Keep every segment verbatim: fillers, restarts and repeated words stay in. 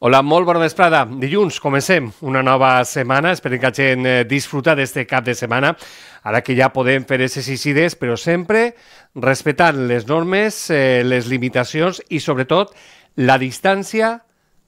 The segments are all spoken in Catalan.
Hola, molt bona vesprada. Dilluns comencem una nova setmana. Esperem que la gent disfruta d'este cap de setmana. Ara que ja podem fer exercicis, però sempre respectant les normes, eh, les limitacions i, sobretot, la distància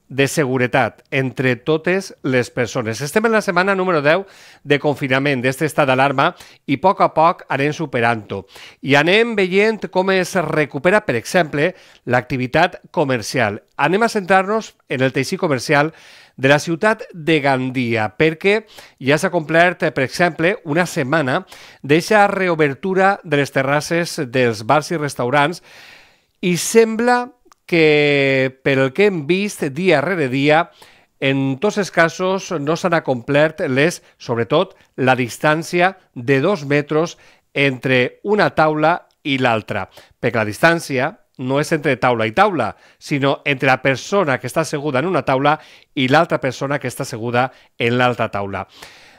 de seguretat entre totes les persones. Estem en la setmana número deu de confinament, d'aquest estat d'alarma, i a poc a poc anem superant-ho. I anem veient com es recupera, per exemple, l'activitat comercial. Anem a centrar-nos en el teixit comercial de la ciutat de Gandia, perquè ja s'ha complert, per exemple, una setmana d'eixa reobertura de les terrasses dels bars i restaurants i sembla que, pel que hem vist dia rere dia, en tots els casos no s'han complert les, sobretot, la distància de dos metres entre una taula i l'altra. Perquè la distància no és entre taula i taula, sinó entre la persona que està asseguda en una taula i l'altra persona que està asseguda en l'altra taula.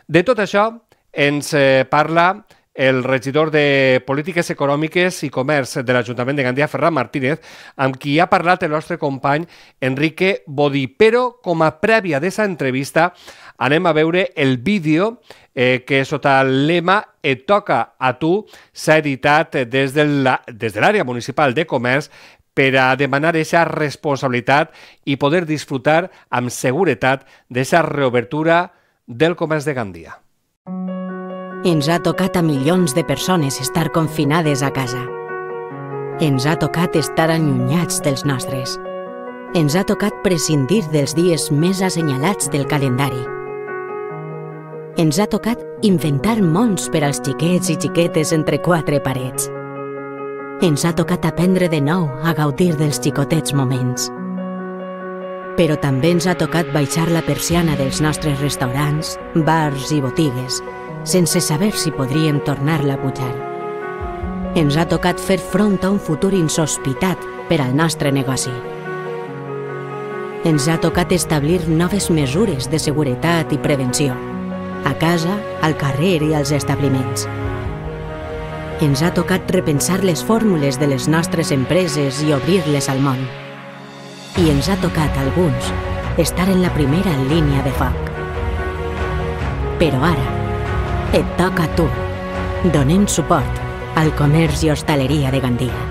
De tot això ens parla el regidor de Polítiques Econòmiques i Comerç de l'Ajuntament de Gandia, Ferran Martínez, amb qui ha parlat el nostre company Enrique Bodí. Però, com a prèvia d'aquesta entrevista, anem a veure el vídeo eh, que sota el lema Et toca a tu s'ha editat des de l'àrea municipal de comerç per a demanar aquesta responsabilitat i poder disfrutar amb seguretat d'aquesta reobertura del comerç de Gandia. Ens ha tocat a milions de persones estar confinades a casa. Ens ha tocat estar allunyats dels nostres. Ens ha tocat prescindir dels dies més assenyalats del calendari. Ens ha tocat inventar mons per als xiquets i xiquetes entre quatre parets. Ens ha tocat aprendre de nou a gaudir dels xicotets moments. Però també ens ha tocat baixar la persiana dels nostres restaurants, bars i botigues, sense saber si podríem tornar-la a pujar. Ens ha tocat fer front a un futur insospitat per al nostre negoci. Ens ha tocat establir noves mesures de seguretat i prevenció, a casa, al carrer i als establiments. Ens ha tocat repensar les fórmules de les nostres empreses i obrir-les al món. I ens ha tocat, a alguns, estar en la primera línia de foc. Però ara, et toca a tu. Donem suport al comerç i hostaleria de Gandia.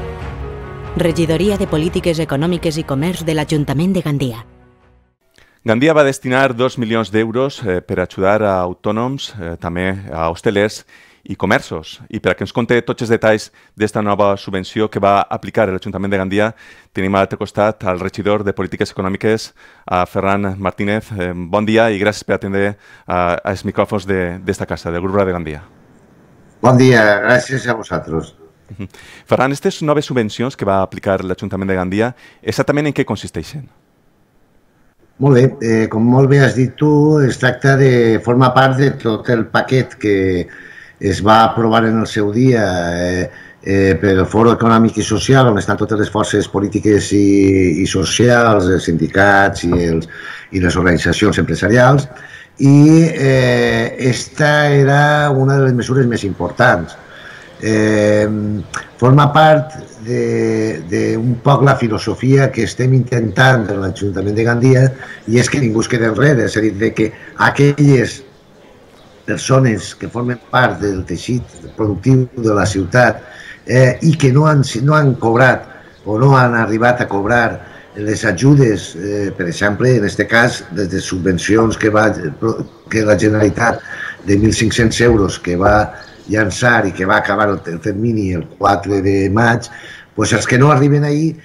Regidoria de Polítiques Econòmiques i Comerç de l'Ajuntament de Gandia. Gandia va destinar dos milions d'euros eh, per ajudar a autònoms, eh, també a hostelers i comerços. I per a que ens conti tots els detalls d'esta nova subvenció que va aplicar l'Ajuntament de Gandia, tenim a l'altre costat al regidor de Polítiques Econòmiques, a Ferran Martínez. Eh, bon dia i gràcies per atendre uh, als micròfons d'esta casa, del Grup de Gandia. Bon dia, gràcies a vosaltres. Uh -huh. Ferran, aquestes noves subvencions que va aplicar l'Ajuntament de Gandia, exactament en què consisteixen? Molt bé, eh, com molt bé has dit tu, es tracta de formar part de tot el paquet que es va aprovar en el seu dia eh, eh, per el Foro Econòmic i Social, on estan totes les forces polítiques i, i socials, els sindicats i, els, i les organitzacions empresarials, i eh, esta era una de les mesures més importants. Eh, forma part d'un poc la filosofia que estem intentant en l'Ajuntament de Gandia, i és que ningú es quedi enrere, és a dir, que aquelles persones que formen part del teixit productiu de la ciutat eh, i que no han, no han cobrat o no han arribat a cobrar les ajudes, eh, per exemple, en aquest cas, des de subvencions que, va, que la Generalitat de mil cinc-cents euros que va llançar i que va acabar el termini el quatre de maig, doncs els que no arriben ahir,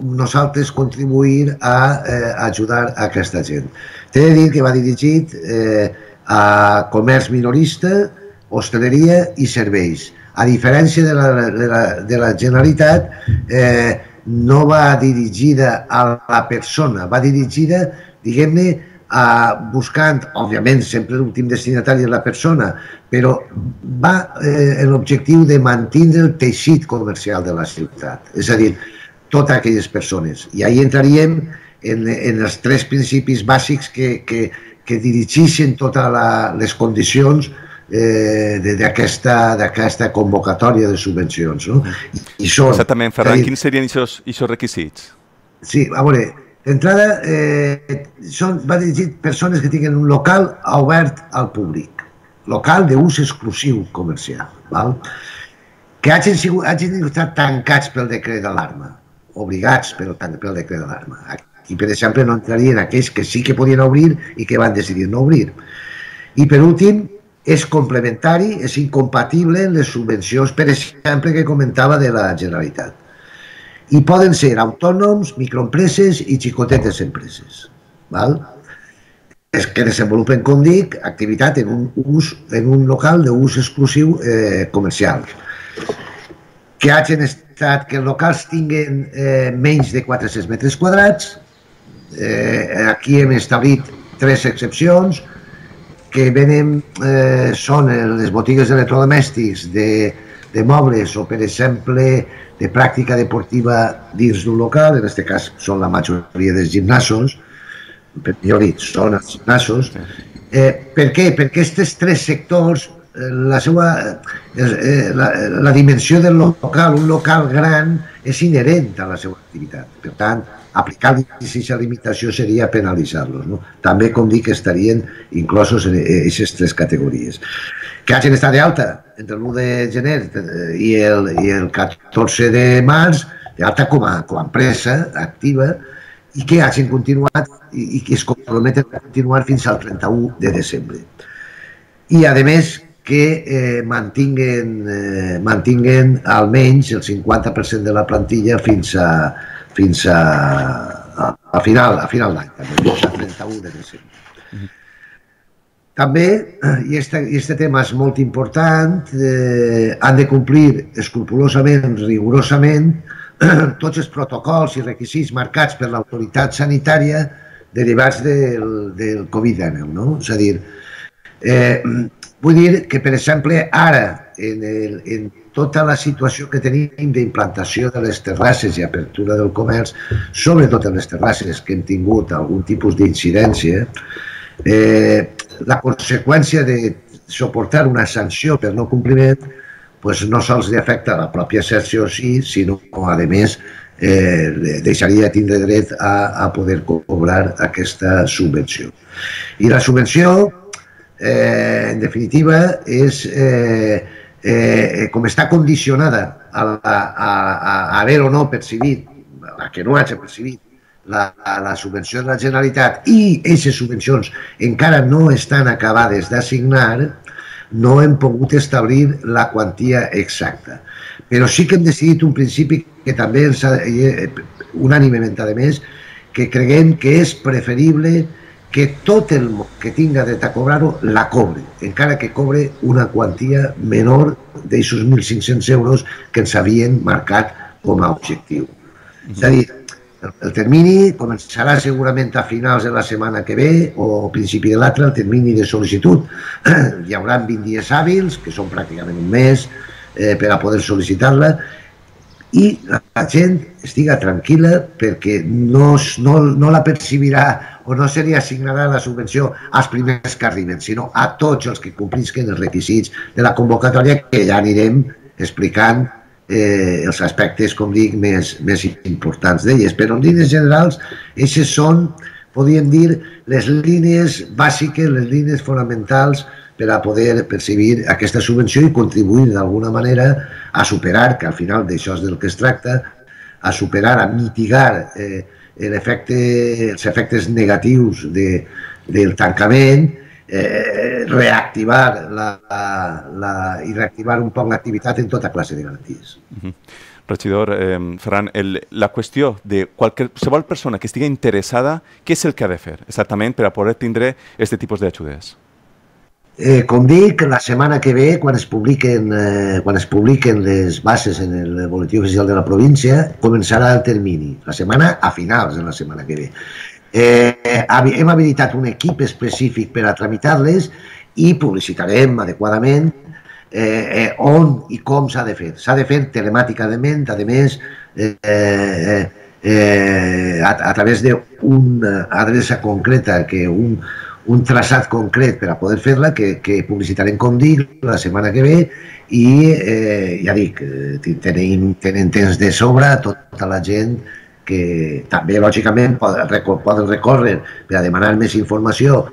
nosaltres contribuir a eh, ajudar a aquesta gent. T'he de dir que va dirigit eh, a comerç minorista, hostaleria i serveis. A diferència de la, de la, de la Generalitat, eh, no va dirigida a la persona, va dirigida, diguem-ne, buscant, òbviament, sempre l'últim destinatari és la persona, però va eh, en l'objectiu de mantenir el teixit comercial de la ciutat, és a dir, totes aquelles persones. I ahí entraríem en, en els tres principis bàsics que, que, que dirigeixen totes les condicions eh, d'aquesta convocatòria de subvencions. No? I són, exactament, Ferran, quins serien aquests requisits? Sí, a veure, D'entrada, eh, són, va dirigit persones que tinguin un local obert al públic, local d'ús exclusiu comercial, val? Que hagin, sigut, hagin estat tancats pel decret d'alarma, obligats pel, pel decret d'alarma. Aquí, per exemple, no entrarien aquells que sí que podien obrir i que van decidir no obrir. I, per últim, és complementari, és incompatible amb les subvencions, per exemple, que comentava de la Generalitat. I poden ser autònoms, microempreses i xicotetes empreses, val? És que desenvolupen, com dic, activitat en un, ús, en un local d'ús exclusiu eh, comercial. Que hagin estat, que els locals tinguin eh, menys de quatre-cents metres quadrats. Eh, aquí hem establit tres excepcions, que venen, eh, són les botigues d'electrodomèstics, de, de mobles o, per exemple, de pràctica deportiva dins d'un local, en aquest cas són la majoria dels gimnasos, per millor dit, són els gimnasos. Eh, per què? Perquè aquests tres sectors, eh, la, seva, eh, la, la dimensió del local, un local gran, és inherent a la seva activitat. Per tant, aplicar aquesta limitació seria penalitzar-los. No? També, com dic, estarien inclosos en aquestes tres categories. Que hagin estat d'alta entre l'u de gener i el, i el catorze de març, d'alta com, com a empresa activa, i que hagin continuat i, i que es comprometen a continuar fins al trenta-u de desembre. I, a més, que eh, mantinguen, eh, mantinguen almenys el cinquanta per cent de la plantilla fins a, fins a, a, a final, a final d'any, fins al trenta-u de desembre. També, i aquest tema és molt important, eh, han de complir escrupolosament, rigorosament, tots els protocols i requisits marcats per l'autoritat sanitària derivats del, del covid dinou. No? És a dir, eh, vull dir que, per exemple, ara, en, el, en tota la situació que tenim d'implantació de les terrasses i apertura del comerç, sobretot en les terrasses que hem tingut algun tipus d'incidència, eh, la conseqüència de suportar una sanció per no compliment pues no sols li afecta a la pròpia sanció sí, sinó a més eh, deixaria de tindre dret a, a poder cobrar aquesta subvenció. I la subvenció, eh, en definitiva, és eh, eh, com està condicionada a, a, a, a haver o no percibit, a que no hagi percibit La, la subvenció de la Generalitat i aquestes subvencions encara no estan acabades d'assignar, no hem pogut establir la quantia exacta. Però sí que hem decidit un principi que també ens ha, unànimement, a més, que creguem que és preferible que tot el que tinga dret a cobrar-ho la cobre, encara que cobre una quantia menor d'aquests mil cinc-cents euros que ens havien marcat com a objectiu. És a dir, el termini començarà segurament a finals de la setmana que ve o principi de l'altra, el termini de sol·licitud. Hi haurà vint dies hàbils, que són pràcticament un mes, eh, per a poder sol·licitar-la, i la gent estiga tranquil·la perquè no, no, no la percibirà o no se li assignarà la subvenció als primers que arriben, sinó a tots els que complisquen els requisits de la convocatòria, que ja anirem explicant Eh, els aspectes, com dic, més, més importants d'elles. Però en línies generals, aquestes són, podríem dir, les línies bàsiques, les línies fonamentals per a poder percibir aquesta subvenció i contribuir d'alguna manera a superar, que al final d'això és del que es tracta, a superar, a mitigar eh, l'efecte, els efectes negatius de, del tancament, Eh, reactivar la, la, i reactivar un poc l'activitat en tota classe de garanties. Uh-huh. Regidor eh, Ferran, el, la qüestió de qualsevol persona que estigui interessada, què és el que ha de fer exactament per a poder tindre aquest tipus d'ajudes? Eh, com dic, la setmana que ve, quan es publiquen, eh, quan es publiquen les bases en el boletí oficial de la província, començarà el termini, la setmana a finals de la setmana que ve. Eh, hem habilitat un equip específic per a tramitar-les i publicitarem adequadament eh, eh, on i com s'ha de fer. S'ha de fer telemàticament, a més, eh, eh, eh, a, a través d'una adreça concreta, que un, un traçat concret per a poder fer-la, que, que publicitarem, com dic, la setmana que ve, i eh, ja dic, tenen, tenen temps de sobre tota la gent que també, lògicament, poden, poden recórrer per a demanar més informació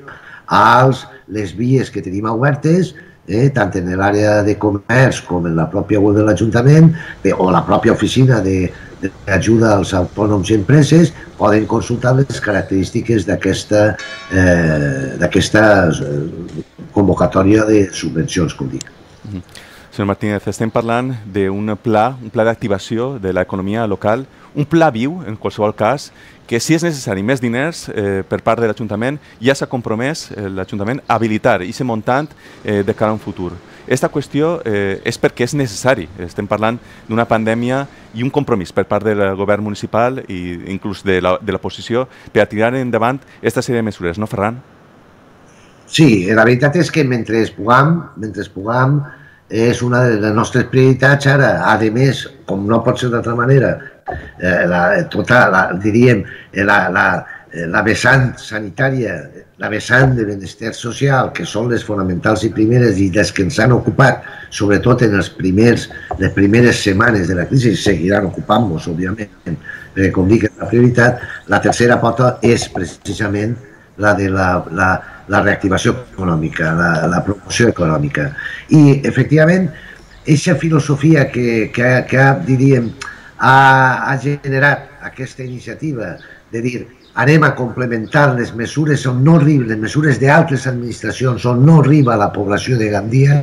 a les vies que tenim obertes, eh, tant en l'àrea de comerç com en la pròpia web de l'Ajuntament o la pròpia oficina d'ajuda als autònoms i empreses, poden consultar les característiques d'aquesta eh, convocatòria de subvencions, com dic. Senyor Martínez, estem parlant d'un pla, un pla d'activació de l'economia local, un pla viu, en qualsevol cas, que si és necessari més diners eh, per part de l'Ajuntament, ja s'ha compromès eh, l'Ajuntament a habilitar aquest muntant eh, de cara a un futur. Aquesta qüestió eh, és perquè és necessari. Estem parlant d'una pandèmia i un compromís per part del govern municipal i inclús de l'oposició per a tirar endavant aquesta sèrie de mesures, no, Ferran? Sí, la veritat és que mentre puguem, mentre puguem, és una de les nostres prioritats ara. A més, com no pot ser d'altra manera, eh, la, tota, la, diríem, la, la, la vessant sanitària, la vessant de benestar social, que són les fonamentals i primeres i les que ens han ocupat, sobretot en els primers, les primeres setmanes de la crisi, seguiran ocupant-nos, òbviament, perquè, com dic, és la prioritat. La tercera pota és precisament la de la, la, la reactivació econòmica, la, la promoció econòmica. I, efectivament, aquesta filosofia que, que, que diríem, ha, ha generat aquesta iniciativa de dir anem a complementar les mesures on no arriben, les mesures d'altres administracions on no arriba la població de Gandia,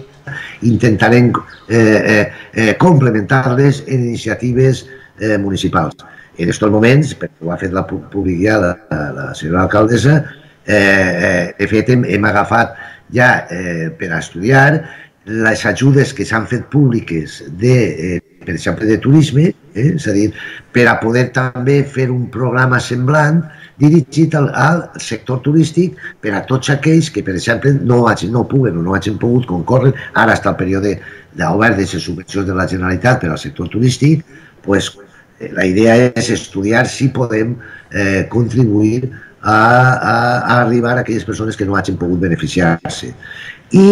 intentarem eh, eh, eh, complementar-les en iniciatives eh, municipals. En aquests moments, perquè ho ha fet la publicar la, la senyora alcaldessa, eh, de fet hem, hem agafat ja eh, per a estudiar les ajudes que s'han fet públiques de, eh, per exemple, de turisme, eh, és a dir, per a poder també fer un programa semblant dirigit al, al sector turístic per a tots aquells que, per exemple, no, hagin, no puguen o no hagin pogut concórrer, ara està el període d'obert de les subvencions de la Generalitat per al sector turístic, pues, eh, la idea és estudiar si podem eh, contribuir a, a, a arribar a aquelles persones que no hagin pogut beneficiar-se. I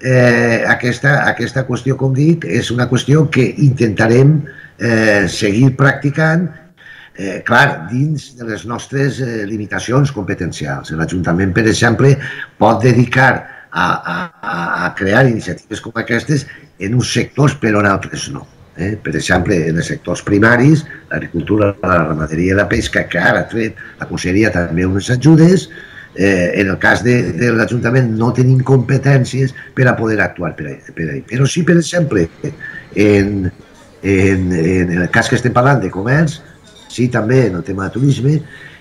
Eh, aquesta, aquesta qüestió, com dic, és una qüestió que intentarem eh, seguir practicant, eh, clar, dins de les nostres eh, limitacions competencials. L'Ajuntament, per exemple, pot dedicar a, a, a crear iniciatives com aquestes en uns sectors, però en altres no. Eh? Per exemple, en els sectors primaris, l'agricultura, la ramaderia i la pesca, que ara ha tret la Conselleria també unes ajudes. Eh, en el cas de, de l'Ajuntament no tenim competències per a poder actuar per ahí. Per ahí. Però sí, per exemple, en, en, en el cas que estem parlant de comerç, sí també en el tema de turisme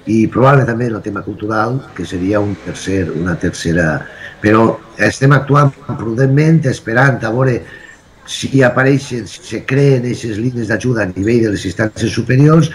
i probablement també en el tema cultural, que seria un tercer, una tercera... Però estem actuant prudentment, esperant a veure si apareixen, si se creen aquestes línies d'ajuda a nivell de les instàncies superiors,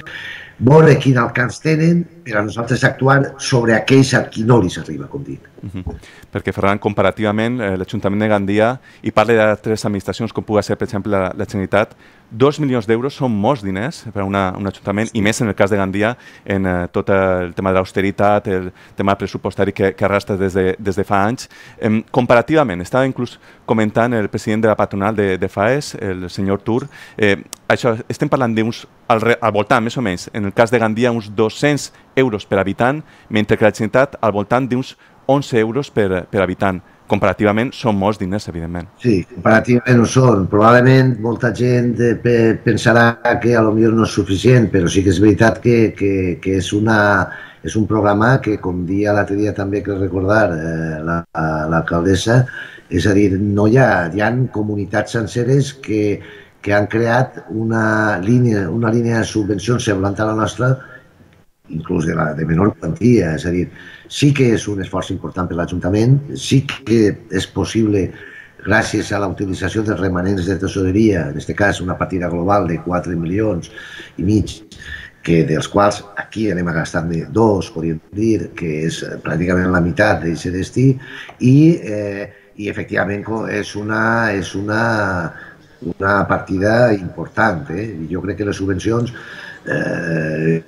veure quin alcance tenen per a nosaltres actuar sobre aquells a qui no li s'arriba, com dic. Uh-huh. Perquè, Ferran, comparativament, eh, l'Ajuntament de Gandia, i parla d'altres administracions com pugui ser, per exemple, la, la Generalitat, dos milions d'euros són molts diners per a una, un ajuntament, i més en el cas de Gandia, en eh, tot el tema de l'austeritat, el tema pressupostari que, que arrastra des de, des de fa anys. Eh, comparativament, estava inclús comentant el president de la patronal de, de FAES, el senyor Tur, eh, això, estem parlant d'uns, al, al voltant, més o menys, en el cas de Gandia, uns dos-cents euros per habitant, mentre que la Generalitat al voltant d'uns onze euros per, per habitant. Comparativament són molts diners, evidentment. Sí, comparativament ho són. Probablement molta gent pensarà que a lo millor no és suficient, però sí que és veritat que, que, que és, una, és un programa que, com dia l'altre dia també cal recordar eh, l'alcaldessa, és a dir, no hi ha, hi ha comunitats senceres que, que han creat una línia, una línia de subvencions semblant a la nostra, inclús de, la, de menor quantia, és a dir, sí que és un esforç important per l'Ajuntament, sí que és possible, gràcies a la utilització dels remanents de tesoreria, en aquest cas una partida global de quatre milions i mig, que dels quals aquí anem a gastar-ne dos, podríem dir, que és pràcticament la meitat d'aquest destí, i, eh, i efectivament és una, és una, una partida important. Eh? Jo crec que les subvencions Eh,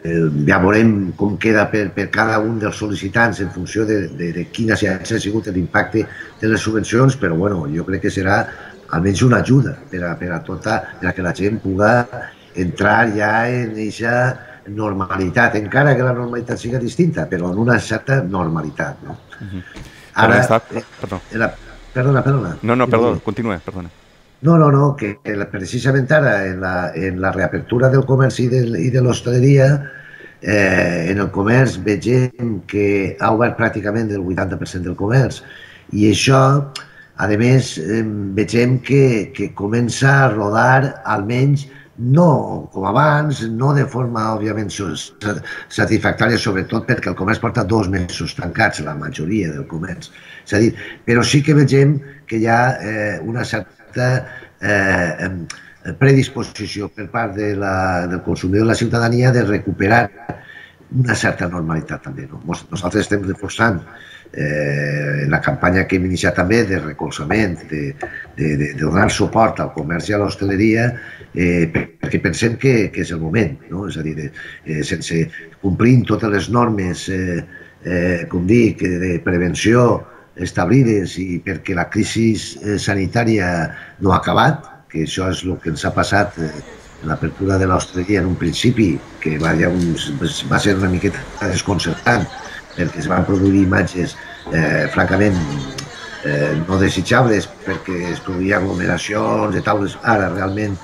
ja veurem com queda per, per cada un dels sol·licitants en funció de, de, de quin ha sigut l'impacte de les subvencions, però bueno, jo crec que serà almenys una ajuda per a, per a, tota, per a que la gent pugui entrar ja en aquesta normalitat, encara que la normalitat siga distinta, però en una certa normalitat. No? Uh-huh. Ara, està... eh, perdó. la, perdona, perdona. No, no, perdó, continua, perdona. No, no, no, que, que precisament ara, en la, en la reapertura del comerç i de, i de l'hostaleria, eh, en el comerç vegem que ha obert pràcticament el vuitanta per cent del comerç i això, a més, eh, vegem que, que comença a rodar almenys no com abans, no de forma, òbviament, satisfactòria, sobretot perquè el comerç porta dos mesos tancats, la majoria del comerç. És a dir, però sí que vegem que hi ha eh, una certa eh, predisposició per part de la, del consumidor de la ciutadania de recuperar una certa normalitat també. No? Nosaltres estem reforçant eh, la campanya que hem iniciat també de recolzament, de, de, de, de donar suport al comerç i a l'hostaleria, eh, perquè pensem que, que és el moment, no? És a dir, eh, sense complint totes les normes, eh, eh, com dic, de prevenció establides i perquè la crisi eh, sanitària no ha acabat, que això és el que ens ha passat eh, en l'apertura de l'hostaleria en un principi, que va, un, va ser una miqueta desconcertant, perquè es van produir imatges eh, francament eh, no desitjables, perquè es produïen aglomeracions de taules. Ara, realment,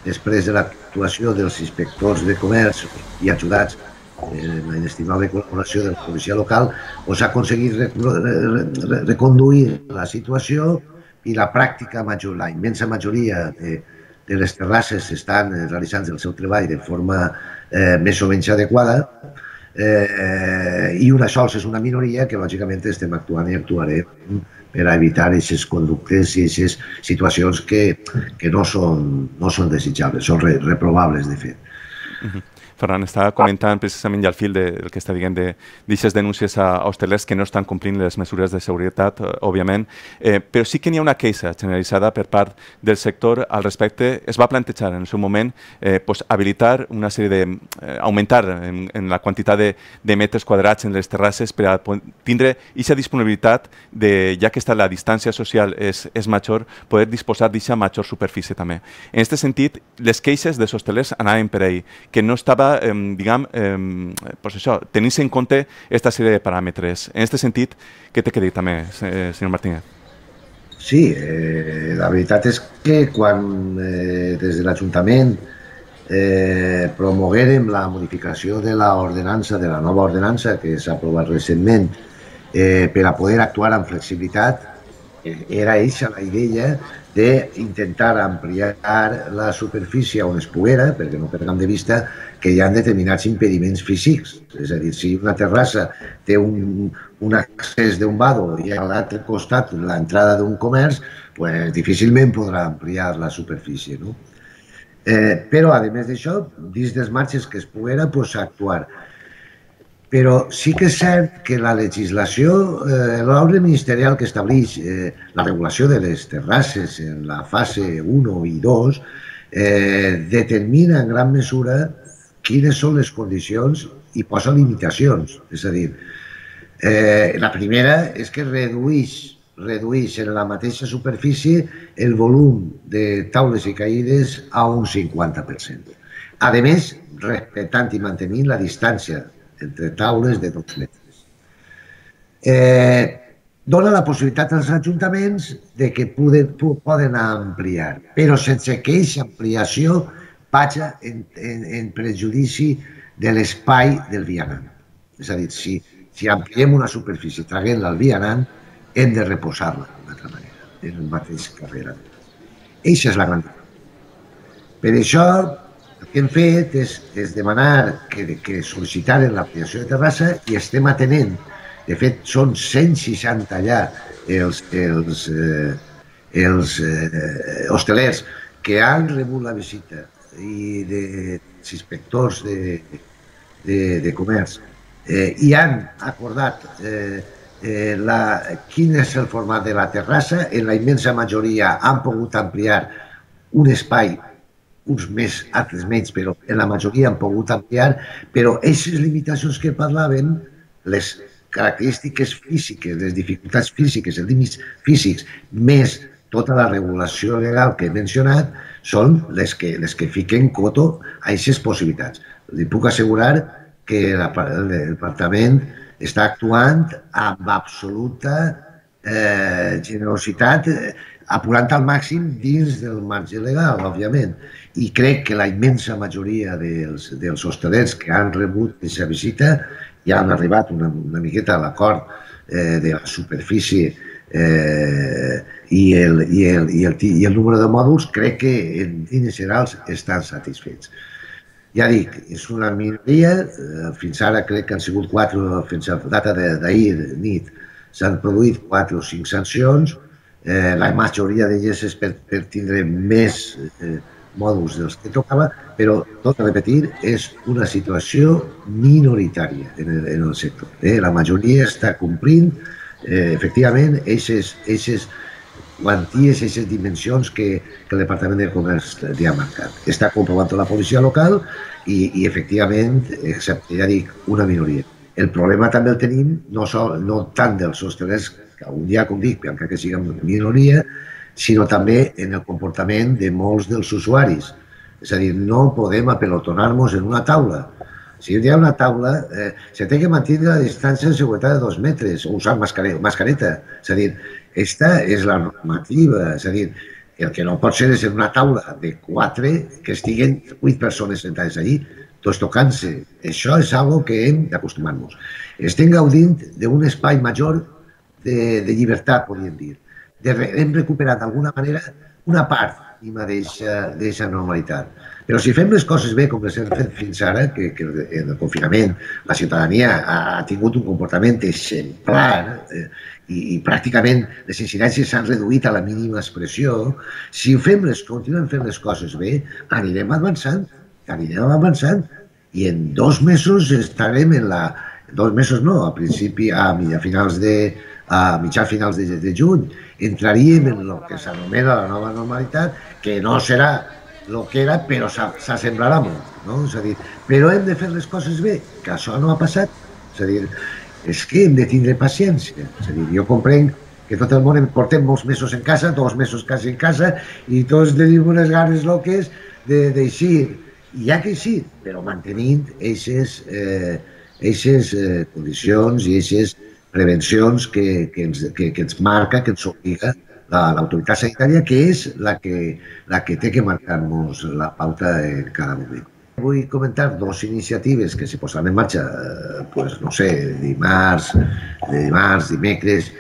després de l'actuació dels inspectors de comerç i ajudats en la inestimable col·laboració de la policia local, s'ha aconseguit reconduir la situació i la pràctica major, la immensa majoria de, de les terrasses estan realitzant el seu treball de forma eh, més o menys adequada eh, i una sols és una minoria que lògicament estem actuant i actuarem per a evitar aquestes conductes i aquestes situacions que, que no, són, no són desitjables, són re, reprobables de fet. Uh-huh. Ferran estava comentant precisament ja al fil del que està dient d'aquestes denúncies a hostelers que no estan complint les mesures de seguretat, òbviament, eh, però sí que n'hi ha una queixa generalitzada per part del sector al respecte. Es va plantejar en el seu moment eh, pues, habilitar una sèrie de... Eh, augmentar en, en la quantitat de, de metres quadrats en les terrasses per a tindre aquesta disponibilitat de, ja que està la distància social és, és major, poder disposar d'aquesta major superfície també. En aquest sentit, les queixes dels hostelers anaven per ahí, que no estava Eh, diguem, eh, pues això, tenint en compte aquesta sèrie de paràmetres. En aquest sentit, què té que dir també, eh, senyor Martínez? Sí, eh, la veritat és que quan eh, des de l'Ajuntament eh, promoguérem la modificació de l'ordenança, de la nova ordenança que s'ha aprovat recentment eh, per a poder actuar amb flexibilitat, eh, era eixa la idea d'intentar ampliar la superfície on es poguera, perquè no perdem de vista que hi ha determinats impediments físics. És a dir, si una terrassa té un, un accés d'un vado i a l'altre costat l'entrada d'un comerç, pues, difícilment podrà ampliar la superfície. No? Eh, però, a més d'això, dins dels marges que es poguera, pues, actuar. Però sí que és cert que la legislació, eh, l'ordre ministerial que estableix eh, la regulació de les terrasses en la fase un i dos eh, determina en gran mesura quines són les condicions i posa limitacions. És a dir, eh, la primera és que redueix, redueix en la mateixa superfície el volum de taules i caïdes a un cinquanta per cent. A més, respectant i mantenint la distància entre taules de dos metres. Eh, dona la possibilitat als ajuntaments de que poden, poden ampliar, però sense que aquesta ampliació vagi en, en, en prejudici de l'espai del vianant. És a dir, si, si ampliem una superfície traient-la al vianant, hem de reposar-la d'una altra manera, en el mateix carrer. Eixa és la gran diferència. Per això, el que hem fet és, és demanar que, que sol·licitaren l'ampliació de terrassa i estem atenent. De fet, són cent seixanta allà els, els, eh, els eh, hostelers que han rebut la visita i dels inspectors de, de, de comerç eh, i han acordat eh, eh, la, quin és el format de la terrassa. En la immensa majoria han pogut ampliar un espai, uns més, altres menys, però en la majoria han pogut ampliar, però aquestes limitacions que parlaven, les característiques físiques, les dificultats físiques, els límits físics, més tota la regulació legal que he mencionat són les que, les que fiquen coto a aquestes possibilitats. Li puc assegurar que el departament està actuant amb absoluta eh, generositat, apurant al màxim dins del marge legal, òbviament. I crec que la immensa majoria dels, dels hostalers que han rebut aquesta visita ja han arribat una, una miqueta a l'acord eh, de la superfície eh, i, el, i, el, i, el, i el número de mòduls, crec que en línies generals estan satisfets. Ja dic, és una minoria, fins ara crec que han sigut quatre, fins a data d'ahir nit, s'han produït quatre o cinc sancions, eh, la majoria d'elles és per, per tindre més eh, mòduls dels que tocava, però, tot a repetir, és una situació minoritària en el, en el sector. Eh? La majoria està complint, eh, efectivament, aquestes quanties, aquestes dimensions que, que el Departament de Comerç li ha marcat. Està comprovant la policia local i, i efectivament, excepte, ja dic, una minoria. El problema també el tenim no, sol, no tant dels hostalers, que algun dia, com dic, encara que siguin minoria, sinó també en el comportament de molts dels usuaris. És a dir, no podem apelotonar-nos en una taula. Si hi ha una taula, eh, se té que mantenir la distància de seguretat de dos metres o usar mascareta. És a dir, aquesta és la normativa. És a dir, el que no pot ser és en una taula de quatre que estiguen vuit persones sentades allí, tots tocant-se. Això és algo que hem d'acostumar-nos. Estem gaudint d'un espai major de, de llibertat, podríem dir. De, hem recuperat d'alguna manera una part d'aquesta normalitat. Però si fem les coses bé, com les hem fet fins ara, que, que en el confinament la ciutadania ha tingut un comportament exemplar eh, i, i pràcticament les incidències s'han reduït a la mínima expressió, si fem les, continuem fent les coses bé, anirem avançant, anirem avançant i en dos mesos estarem en la... Dos mesos no, a principi, a, a finals de... a mitjà finals de, de juny, entraríem en el que s'anomena la nova normalitat, que no serà el que era, però s'assemblarà molt. No? És a dir, però hem de fer les coses bé, que això no ha passat. És a dir, és que hem de tindre paciència. És a dir, jo comprenc que tot el món portem molts mesos en casa, dos mesos quasi en casa, i tots tenim unes ganes loques d'eixir. I hi ha que eixir, però mantenint aquestes eh, eh, condicions i aquestes prevencions que, que, ens, que, que ens marca, que ens obliga l'autoritat sanitària, que és la que, la que té que marcar-nos la pauta en cada moment. Vull comentar dues iniciatives que se posaran en marxa, pues, no sé, dimarts, dimarts, dimecres,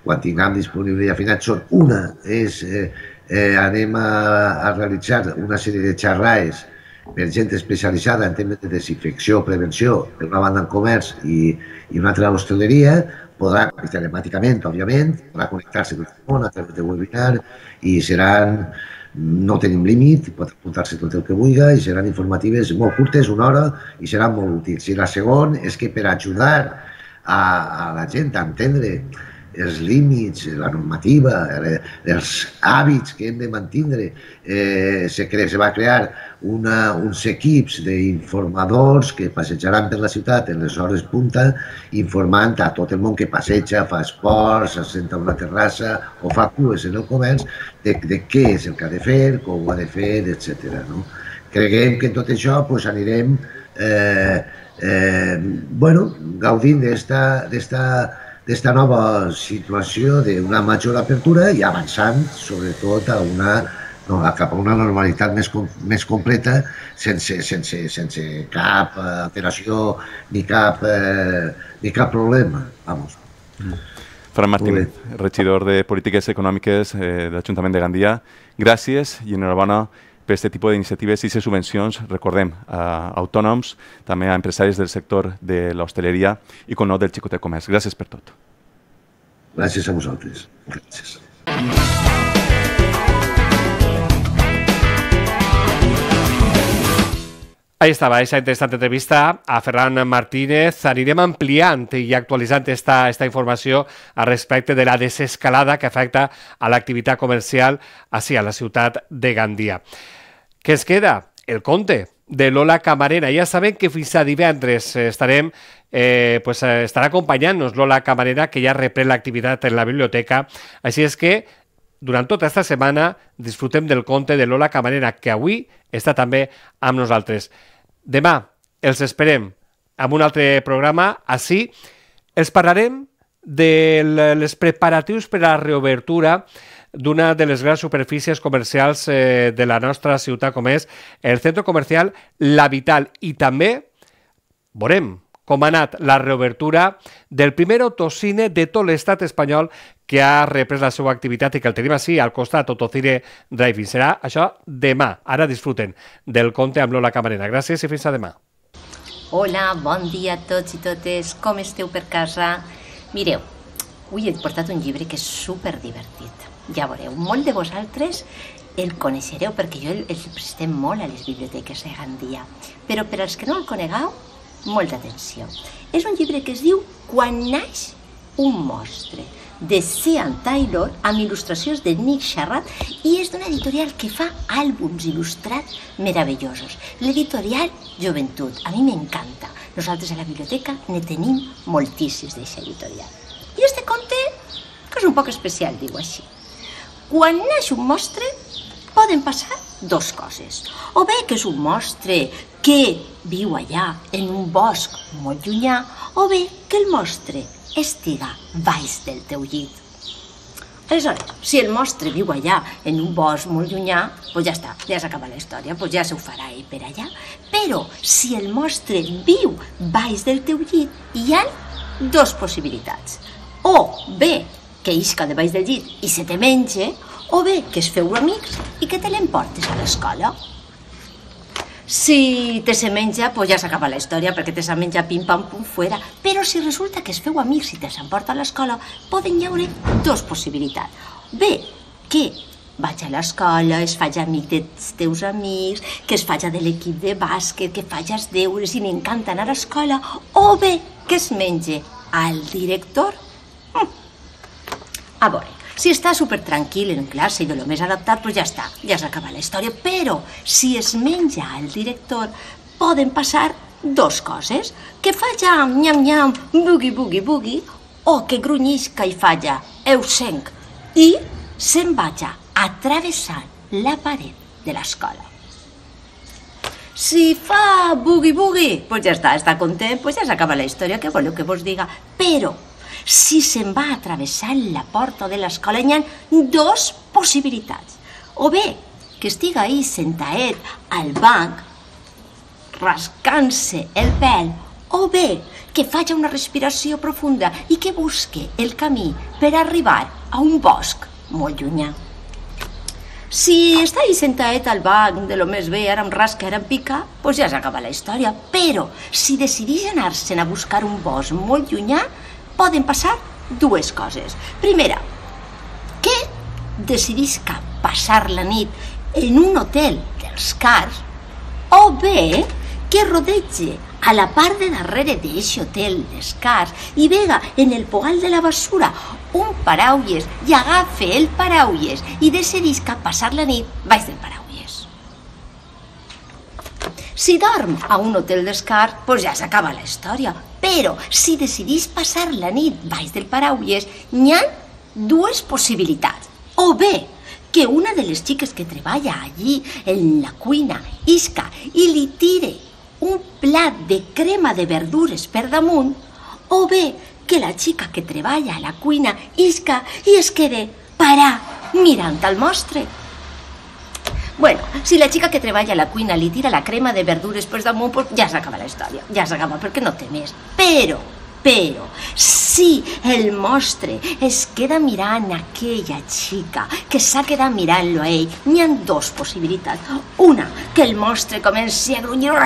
quan tinguem disponible i afinat. Són una, és, eh, eh, anem a, a realitzar una sèrie de xerrades per gent especialitzada en temes de desinfecció, prevenció, per una banda en comerç i, i una altra a l'hostaleria, podrà, telemàticament, òbviament, podrà connectar-se tot el món a través de webinar i seran, no tenim límit, pot apuntar-se tot el que vulgui i seran informatives molt curtes, una hora, i seran molt útils. I la segona és que per ajudar a, a la gent a entendre els límits, la normativa, els hàbits que hem de mantenir. Eh, se, cre se va crear una, uns equips d'informadors que passejaran per la ciutat en les hores punta, informant a tot el món que passeja, fa esports, s'assenta a una terrassa o fa cues en el comerç, de, de què és el que ha de fer, com ho ha de fer, etcètera. No? Creguem que en tot això pues, anirem eh, eh, bueno, gaudint d'esta d'esta nova situació d'una major apertura i avançant, sobretot, a una, no, cap a una normalitat més, més completa, sense, sense, sense cap alteració ni cap, eh, ni cap problema. Vamos. Fran Martínez, regidor de Polítiques Econòmiques eh, de l'Ajuntament de Gandia, gràcies i enhorabona per aquest tipus d'iniciatives i aquestes subvencions, recordem, a autònoms, també a empresaris del sector de l'hostaleria i, com no, del xicotet comerç. Gràcies per tot. Gràcies a vosaltres. Gràcies. Ahí estaba esa interesante entrevista a Ferran Martínez. Anirem ampliant i actualitzant esta, esta informació al respecte de la desescalada que afecta a l'activitat comercial així a la ciutat de Gandia. Què es queda? El conte de Lola Camarena. Ja sabem que fins a divendres estarem, eh, pues, estarà acompanyant-nos Lola Camarena, que ja reprèn l'activitat en la biblioteca. Així és que durant tota aquesta setmana disfrutem del conte de Lola Camarena, que avui està també amb nosaltres. Demà els esperem amb un altre programa. Així els parlarem dels preparatius per a la reobertura d'una de les grans superfícies comercials eh, de la nostra ciutat, com és el centre comercial La Vital. I també veurem com ha anat la reobertura del primer autocine de tot l'estat espanyol que ha reprès la seva activitat i que el tenim així al costat, Autocine Drive-In. Serà això demà. Ara disfruten del conte amb Lola Camarena. Gràcies i fins a demà. Hola, bon dia a tots i totes. Com esteu per casa? Mireu, avui he portat un llibre que és superdivertit. Ja veureu, molt de vosaltres el coneixereu perquè jo el, el prestem molt a les biblioteques de Gandia. Però per als que no el conegueu, molta atenció. És un llibre que es diu Quan naix un monstre, de Sean Taylor, amb il·lustracions de Nick Sharrat, i és d'una editorial que fa àlbums il·lustrats meravellosos. L'editorial Joventut. A mi m'encanta. Nosaltres a la biblioteca ne tenim moltíssims d'aquesta editorial. I este conte, que és un poc especial, diu així. Quan naix un monstre, poden passar dos coses. O bé que és un monstre que viu allà en un bosc molt llunyà, o bé que el monstre estiga baix del teu llit. Aleshores, si el monstre viu allà en un bosc molt llunyà, doncs ja està, ja s'acaba la història, doncs ja s'ho farà ell per allà. Però si el monstre viu baix del teu llit, hi ha dues possibilitats. O bé que isca de baix del llit i se te menge, o bé que es feu amics i que te l'emportes a l'escola. Si te se menja, doncs ja s'acaba la història, perquè te se menja pim-pam-pum fuera. Però si resulta que es feu amics i te s'emporta a l'escola, poden hi haure dues possibilitats. Bé, que vaig a l'escola, es faig amic dels teus amics, que es faig de l'equip de bàsquet, que faig els deures i m'encanta anar a l'escola, o bé que es menge al director. Hm. A veure, si està supertranquil en classe i de lo més adaptat, doncs ja està, ja s'acaba la història. Però si es menja al director, poden passar dos coses. Que faja nyam-nyam, bugui-bugui-bugui, o que grunyisca i falla eusenc i se'n vaja atravessant la paret de l'escola. Si fa bugui-bugui, doncs ja està, està content, doncs ja s'acaba la història, què voleu que vos diga? Però si se'n va atravessant la porta de l'escola, hi ha dues possibilitats. O bé que estiga ahí sentaet al banc, rascant-se el pèl, o bé que faci una respiració profunda i que busque el camí per arribar a un bosc molt llunyà. Si està ahí sentaet al banc de lo més bé, ara em rasca, ara em pica, doncs ja s'acaba la història. Però si decideix anar-se'n a buscar un bosc molt llunyà, poden passar dues coses. Primera, que decidisca passar la nit en un hotel dels cars, o bé que rodege a la part de darrere d'aquest hotel dels cars i vega en el pogal de la basura un paraules i agafe el paraules i decidisca passar la nit baix del paraules. Si dorm a un hotel dels cars, doncs ja s'acaba la història. Però si decidís passar la nit baix del paraules, n'hi ha dues possibilitats. O bé que una de les xiques que treballa allí en la cuina isca i li tire un plat de crema de verdures per damunt, o bé que la xica que treballa a la cuina isca i es quede parar mirant al monstre. Bueno, si la xica que treballa a la cuina li tira la crema de verdures per damunt, pues ja s'acaba la història, ja s'acaba perquè no té més. Però, però, si el monstre es queda mirant aquella xica que s'ha quedat mirant-lo a ell, n'hi ha dues possibilitats. Una, que el monstre comenci a grunyir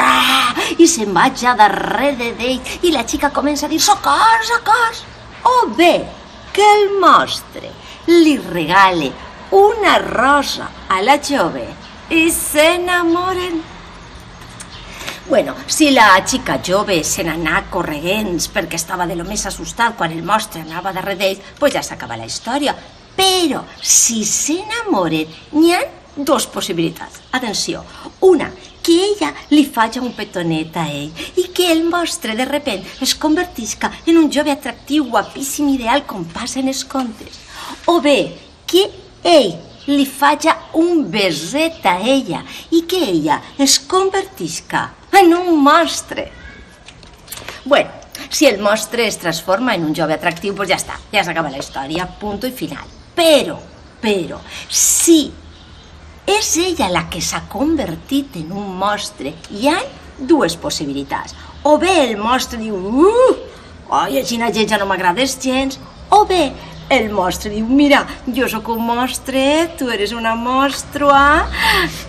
i se'n vaja darrere d'ell i la xica comença a dir socors, socors. O bé, que el monstre li regale una rosa a la jove i s'enamoren. Bueno, si la xica jove se n'anà corregents perquè estava de lo més assustat quan el monstre anava darrere d'ell, doncs ja s'acaba la història. Però si s'enamoren, n'hi ha dues possibilitats. Atenció, una, que ella li faci un petonet a ell i que el monstre de repent es convertisca en un jove atractiu, guapíssim, ideal, com passa en els contes. O bé, que ell li faja un beset a ella i que ella es convertisca en un monstre. Bueno, si el monstre es transforma en un jove atractiu, doncs ja està, ja s'acaba la història, punto i final. Però, però, si és ella la que s'ha convertit en un monstre, hi ha dues possibilitats. O bé el monstre diu, uh, oi, aixina gent ja no m'agrades gens, o bé el monstre diu, mira, jo sóc un monstre, tu eres una monstrua,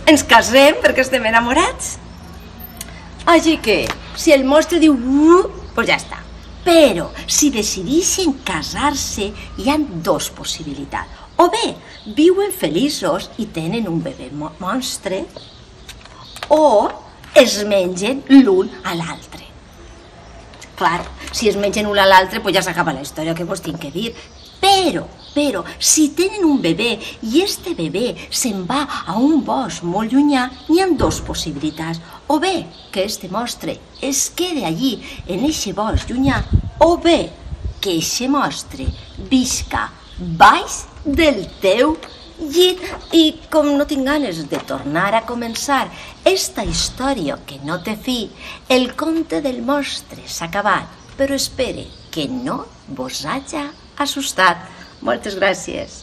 ens casem perquè estem enamorats. Així que, si el monstre diu, uh, doncs ja està. Però, si decideixen casar-se, hi ha dues possibilitats. O bé, viuen feliços i tenen un bebè monstre, o es mengen l'un a l'altre. Clar, si es mengen l'un a l'altre, doncs ja s'acaba la història, que vos tinc que dir. Però, però, si tenen un bebè i este bebè se'n va a un bosc molt llunyà, hi ha dues possibilitats. O bé que este monstre es quede allí, en eixe bosc llunyà, o bé que eixe monstre visca baix del teu llit. I com no tinc ganes de tornar a començar esta història que no té fi, el conte del monstre s'ha acabat, però espere que no vos haja assustat. Moltes gràcies.